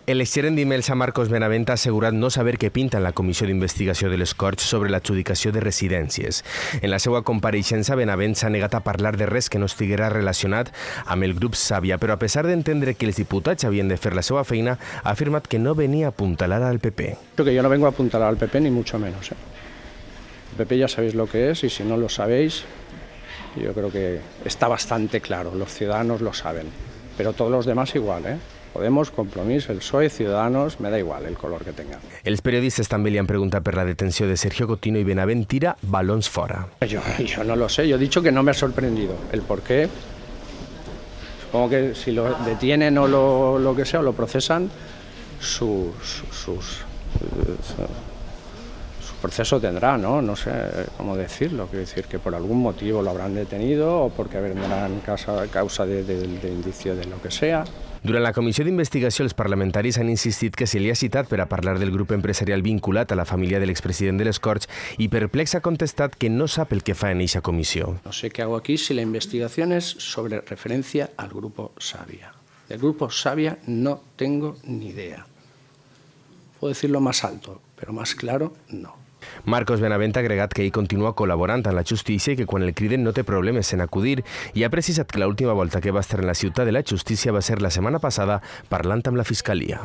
El exgerent d'Imelsa, Marcos Benavent, ha assegurat no saber què pinta en la comissió d'investigació de les Corts sobre l'adjudicació de residències. En la seva compareixença, Benavent s'ha negat a parlar de res que no estiguera relacionat amb el grup Sàvia, però a pesar d'entendre que els diputats havien de fer la seva feina, ha afirmat que no venia a apuntalar al PP. Creo que yo no vengo a apuntalar al PP, ni mucho menos. El PP ya sabéis lo que es, y si no lo sabéis, yo creo que está bastante claro, los ciudadanos lo saben, pero todos los demás igual, Podemos, Compromís, el PSOE, Ciudadanos, me da igual el color que tengan. Els periodistes també li han preguntat per la detenció de Sergio Cotino i Benavent tira balons fora. Yo no lo sé, yo he dicho que no me ha sorprendido. El por qué, supongo que si lo detienen o lo que sea, o lo procesan, su proceso tendrá, ¿no? No sé cómo decirlo, quiero decir que por algún motivo lo habrán detenido o porque vendrán causa de indicio de lo que sea. Durant la comissió d'investigació, els parlamentaris han insistit que se li ha citat per a parlar del grup empresarial vinculat a la família de l'expresident de les Corts i perplex ha contestat que no sap el que fa en eixa comissió. No sé qué hago aquí si la investigación es sobre referencia al grupo Sàvia. Del grupo Sàvia no tengo ni idea. Puedo decirlo más alto, pero más claro, no. Marcos Benavent ha agregat que ell continua col·laborant amb la justícia i que quan el criden no té problemes en acudir i ha precisat que l'última volta que va estar en la ciutat de la justícia va ser la setmana passada parlant amb la Fiscalia.